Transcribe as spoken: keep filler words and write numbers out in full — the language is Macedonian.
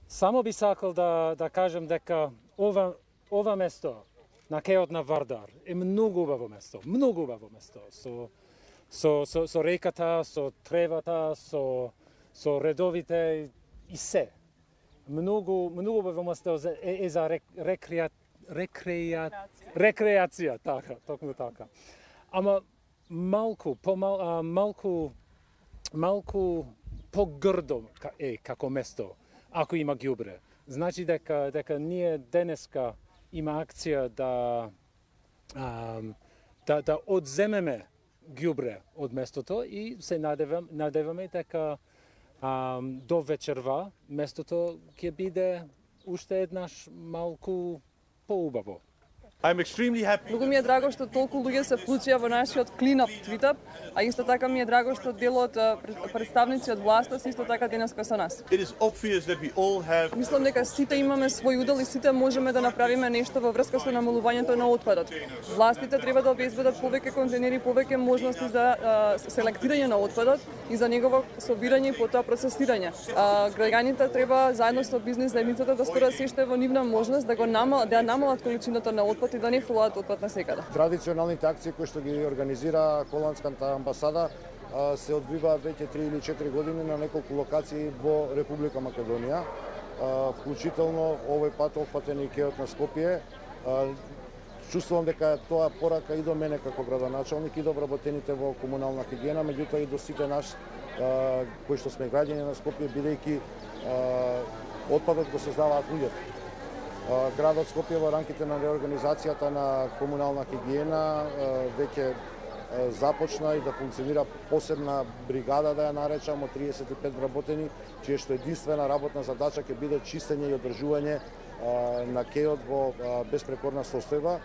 Само би сакал да, да кажем дека ова, ова место на кеот на Вардар е многу убаво место, многу убаво место. Со, со, со, со реката, со тревата, со, со редовите и се. Многу, многу убаво место е, е за рек, рекреа, рекреа, рекреација, така, токму така. Ама малку, помал, а, малку, малку погрдо е како место, ако има ѓубре. Значи дека дека ние денеска има акција да а, да да одземеме ѓубре од местото и се надевам надеваме дека а, до вечерва местото ќе биде уште еднаш малку поубаво. I'm extremely happy. Многу ми е драго што толку луѓе се вклучија во нашиот clean up твитап, а исто така ми е драго што дел од представници од власта се исто така денеска со нас. It is obvious that we all have. Мислам дека сите имаме свој удел и сите можеме да направиме нешто во врска со намалувањето на отпадот. Властите треба да обезбедат повеќе контейнери, повеќе можности за а, селектирање на отпадот и за негово собирање и потоа процесирање. А, граѓаните треба заедно со бизнис заедницата да сторат се што е во нивна можност да го намал, да намалат количината на отпад и да не фрлаат отпад на секаде. Традиционалните акции кои што ги организира холандската амбасада се одвиваат веќе три или четири години на неколку локации во Република Македонија, вклучително овој пат опфатен и кеот на Скопје. Чувствувам дека тоа порака и до мене како градоначалник и до вработените во комунална хигиена, меѓутоа и до сите нас кои што сме граѓани на Скопје, бидејќи отпадот го создаваат луѓето. Градот Скопје во рамките на реорганизацијата на комунална хигиена веќе започна и да функционира посебна бригада, да ја наречам, од триесет и пет вработени, чија што единствена работна задача ќе биде чистење и одржување на кеот во безпрекорна состојба.